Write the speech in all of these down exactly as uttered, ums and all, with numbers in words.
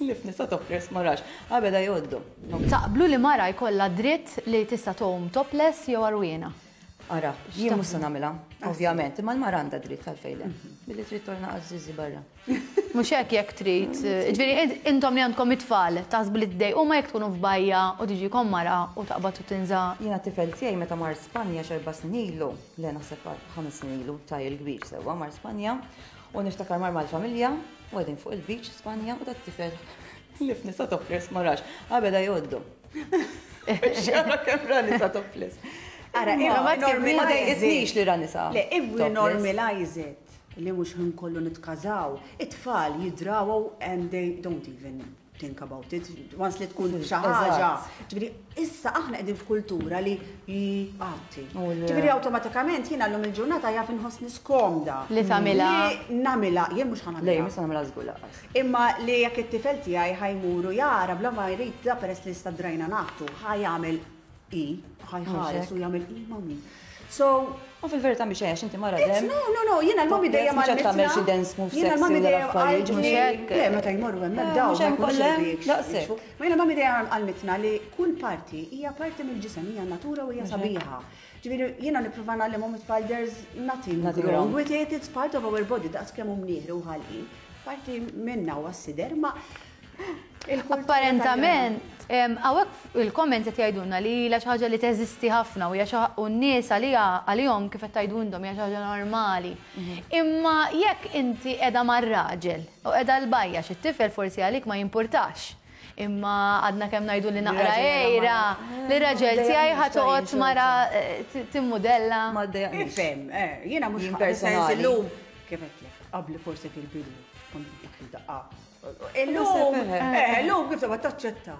Ħlief nisa topless ma rax. Għabeda jgħoddu. Taqblu li mara jkollha dritt li tista' tgħum topless jew għarwiena? Ara, jien mhux se nagħmilha, ovvjament, imma l-mara għandha dritt, għalfejn le? Billi trid torna għażiżi barra. Mhux hekk, jekk trid. Ġifieri intom li għandkom it-tfal, taħsbu li tdejqu ma jekk tkunu f'bajja u tiġikom mara u taqbad u tinża? Jiena tifel tiegħi meta mar Spanja x'erba' snin ilu, le, naħseb ħames snin ilu, taj il-kbir sewwa mar Spanja u niftakar mar mal-familja u qegħdin fuq il-beach Spanja u dat-tifel ħlief nisa topless ma rax. Għabeda jgħoddu. Xara kemm ra nisa topless. Ara, Imma ma ma dejqitnix li ra nisa Le, if we topless. normalize it, li mhux ħin kollu nitkażaw, it-tfal jidrawaw and they don't even think about it. Once li tkun xi ħaġa. Ġifieri, issa aħna qegħdin f'kultura li jgħatti. U le. Ġifieri awtomatikament jiena llum il-ġurnata jaf inħossni skomda. Li tagħmilha. Li nagħmilha, jien mhux Le, ħa nagħmilha. mhux nagħmilha żgur lanqas. Imma li jekk it-tifel tiegħi ħa jmur u jara bla ma jrid, da peress li sta drajna nagħtu, ħa jagħmel i, ħa jħares u jagħmel i, mami. So, U fil-verità mhix għax inti mara It's, dem. no, no, no, jiena l-mami dejjem Mhux qed tagħmel xi għallmitna. dance move Jiena sexy l-mami u dejjem l-affarijiet, qaltli- mhux hekk. Le, meta jmorru hemmhekk Eh, daw, mhux ma hemm jkunux kollha, iridu jikxfu. daqshekk. Ma jiena mami dejjem għallmitna li kull parti hija parti mill-ġisem, hija natura u hija sabiħa. Ġifieri jiena nipprova ngħallimhom it-tfal there's nothing Nothing wrong wrong. with it, it's part of our body, daqs kemm hu mnieħri u ħalqi. Parti minna u għas-sider, ma il-kultura. Apparentament, hawnhekk il-comments qed jgħidulna li hija xi ħaġa li teżisti ħafna u hija xi u n-nies għalija għalihom, kif qed tgħidu intom, hija xi ħaġa normali. Imma jekk inti qiegħda mar-raġel u qiegħda l-bajja, xi tifel forsi għalik ma jimpurtax. Imma għadna kemm ngħidu li naqra Raġel ejra, li raġel tiegħi ħa toqgħod mara eh, t- timmudella. Ma ddejjaqnix. Ifhem, eh, jiena mhux Jien sens personali. illum kif għedtlek, qabli forsi fil-bidu, kont dak daqqa. Illum, eh, illum kif tibqa' taċċetta.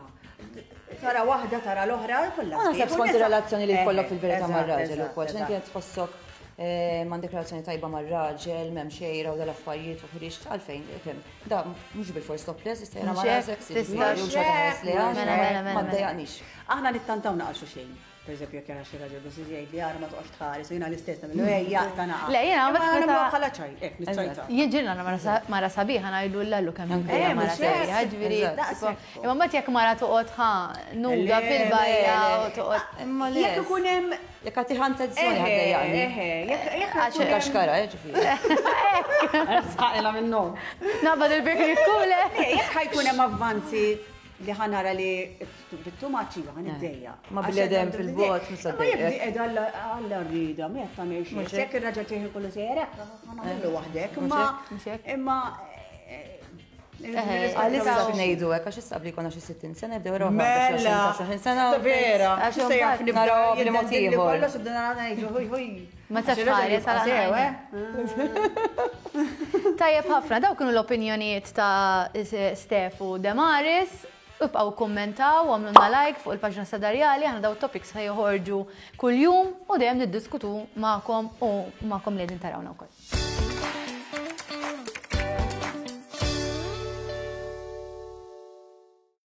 Tara waħda, tara l-oħra, kollha. Ma naħseb sbieħ. skont U nisa- ir-relazzjoni li jkollok Eh, fil-verità eżatt, mar-raġel eżatt, ukoll. X'inti eżatt. qed tħossok eh, m'għandek relazzjoni tajba mar-raġel, m'hemm xejra u dal-affarijiet u ħriġt, għalfejn, ifhem. Da mhux bil-fors topless, jista' jara Mhux mara hekk, sexy, tista' ġifieri, u xorta ħares liha, Mela, mela, mela, ma mela. ddejjaqnix. Aħna nittantaw naqaxu xejn. Per eżempju, jekk jara xi raġel biss jgħid li ara ma toqgħodx tħares u jiena l-istess nagħmlu ejja ta' naqa. Le, jiena Imma meta- nagħmluha bħala ċaj, hekk niċċajta. Jien ġilna mara sa- mara sabiħa ngħidu l-allu kemm Anke. hija Eh, mara mhux hekk. sabiħa, ġifieri. Daqshekk. Imma mbagħad jekk mara toqgħod ħa nuda Le, fil-bajja le, u toqgħod Imma le. Jekk ikun hemm Jekk għati attenzjoni ħa ddejjaqni. Eħe, jekk jekk Għax- ikun hemm- Kaxkara, eh, ġifieri. Sqaqilha minnhom. Naqbad il-bikri kule. Le, jekk ħa jkun hemm avvanzi li ħa nara li bittu maċi ħa niddejjaq. Ma bil-edem fil-bot, mhux Ma jekk ddejjaq. qiegħda għalla rrida, ma jekk tagħmel xejn. Mhux hekk. Jekk ir-raġel tiegħi kollu sejjer hekk, ħa nagħmlu waħdek, imma Mhux hekk. imma eh, Għalissa ngħidu hekk, għax issa qabli konna xi sittin sena bdew raw Mela. sena. Vera, Għax issa jaf imbagħad nibda naraw bli mod jiddendilli ieħor. kollox u bdejna ngħidu ħuj ħuj. Ma tistax tħares għal sew, eh? Tajjeb ħafna, daw kienu l-opinjonijiet ta' Stef u Demaris. Ibqgħu kommentaw, għamlulna like fuq il-paġna Sadarjali, aħna daw topics ħa joħorġu kull-jum u dejjem niddiskutu magħkom u magħkom li qegħdin tarawna wkoll.